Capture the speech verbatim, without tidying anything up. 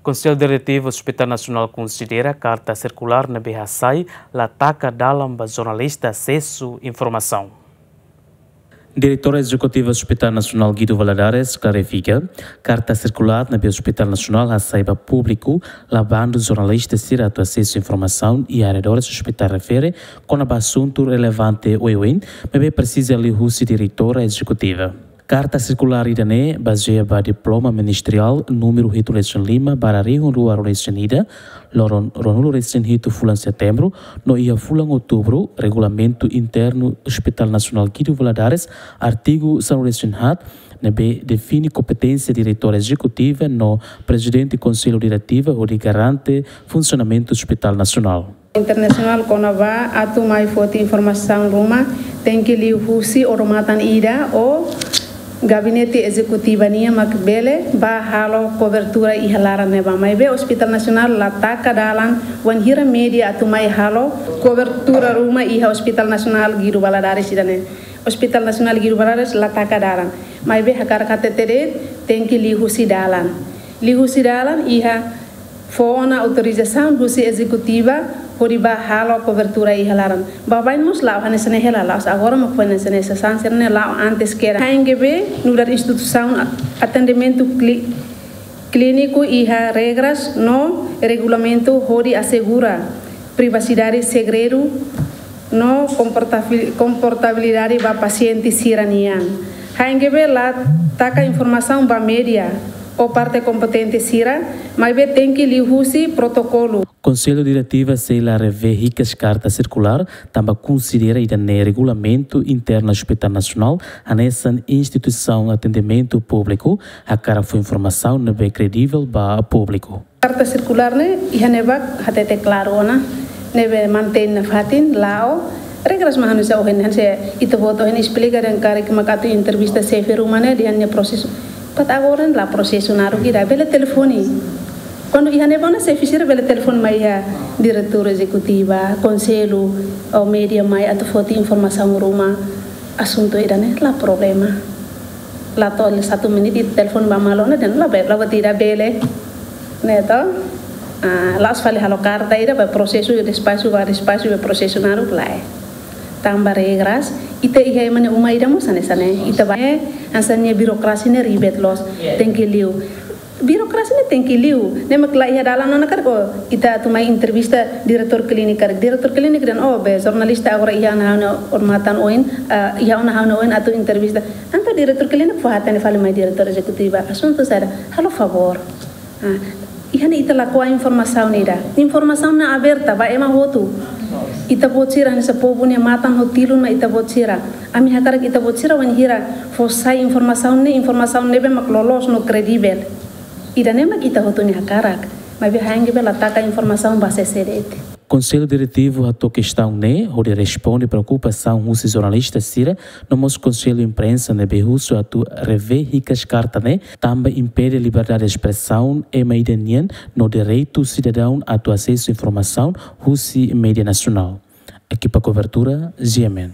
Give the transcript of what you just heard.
Konsellu Diretivu Hospital Nasionál konsidera karta sirkulár ne'ebé hasai la taka dalan ba jornalista asesu informasaun. Diretora Ezekutiva Hospital Nasionál Guido Valadares klarifika, karta sirkulár ne'ebé Hospital Nasionál hasai ba públiku la bandu jornalista sira atu asesu informasaun iha arredores hospital refere kona-ba asuntu relevante oioin, maibé presiza liuhusi Diretora Ezekutiva. Karta sirkulár ida-ne'e bazeia ba diploma ministeriál númeru hitu resin lima barra rihun rua resin ida, loron ruanulu resin hitu fulan Setembru, no iha fulan Outubru, Regulamentu Internu Hospital Nasionál Guido Valadares, artigu sanulu resin haat, ne'ebé define kompeténsia Diretora Ezekutiva no Prezidente Konsellu Diretivu hodi garante funsionamentu Hospital Nasionál. Internasionál kona-ba atu mai foti informasaun ruma, tenke liuhusi odamatan ida ou gabinete ezekutiva nian mak bele bá halo kobertura iha laran ne'ebá. Maibé Hospital Nasionál la taka dalan wainhira média atu mai halo kobertura ruma iha Hospital Nasionál Guido Valadares ida-ne'e. Hospital Nasionál Guido Valadares la taka dalan. Maibé hakarak hatete de'it, tenke liuhusi dalan. Liuhusi dalan iha fó ona autorizasaun husi ezekutiva hodi bá halo kobertura iha laran. Baibain mós la'o hanesan ne'e hela, la'ós agora mak foin hanesan ne'e, sasán sira-ne'e la'o antes kedas. H N G V nu'udar instituisaun a-, atendimentu kli-, klíniku iha regras no regulamentu hodi asegura privasidade, segredu no komportabil-, komportabilidade ba pasiente sira-nian. H N G V la taka informasaun ba média ou parte kompetente sira, maibé tenke liuhusi protokolu. Konsellu Diretivu sei la revee hikas karta sirkulár, tanba konsidera ida-ne'e Regulamentu Internu Hospital Nasionál hanesan instituisaun atendimentu públiku, hakarak fó informasaun ne'ebé kredivel ba públiku. Karta sirkulár ne'e iha ne'ebá hatete klaru ona, ne'ebé mantein nafatin, la'o, regras mak hanesan ohin, hanesan ita-boot ohin esplika dehan karik mak atu entrevista xefe ruma ne'e dehan nia prosesu. To'o agora la prosesu naruk ida, bele telefone. Kuandu iha ne'ebá ona xefe sira bele telefone mai iha diretora ezekutiva, konsellu, ou média mai atu foti informasaun ruma, asuntu ida-ne'e la problema. La to'o satu menit ita telefone ba malu ona dehan la be-, la buat ida bele. Ne'e to? Ah, la'ós fali halo karta ida ba prosesu despaxu, ba despaxu, ba prosesu naruk lae. Tanba regras, ita iha ema nia uma ida mós hanesan ne'e. Ita ba, eh, hanesan ne'e birokrasi ne'e ribet loos. Tenke liu. Birokrasi ne'e tenke liu. Ne'e mak la iha dalan ona karik ita atu mai entrevista diretór klíniku karik. Diretór klíniku dehan, "Oh, be, jornalista agora iha ona ha'u-nia odamatan oin, ah, iha ona ha'u-nia oin atu entrevista." Entaun diretór klíniku fó hatene fali mai diretora ezekutiva. Asuntu saida? Halo favór. Ah, iha ne'e ita lakohi informasaun ida. Informasaun ne'e aberta ba ema hotu. Ita-boot sira hanesan povu nia matan ho tilun mak ita-boot sira. Ami hakarak ita-boot sira wainhira fó sai informasaun ne'e, informasaun ne'ebé mak loloos no kredivel. Ida-ne'e mak ita hotu nia hakarak. Maibé H N G V la taka informasaun ba sé-sé de'it. Konsellu Diretivu hato'o kestaun ne'e hodi responde preokupasaun husi jornalista sira, no mós Konsellu Imprensa ne'ebé husu atu revee hikas karta ne'e, tanba impede liberdade de espresaun ema ida nian no direitu sidadaun atu asesu informasaun husi média nasionál. Ekipa kobertura, G M N.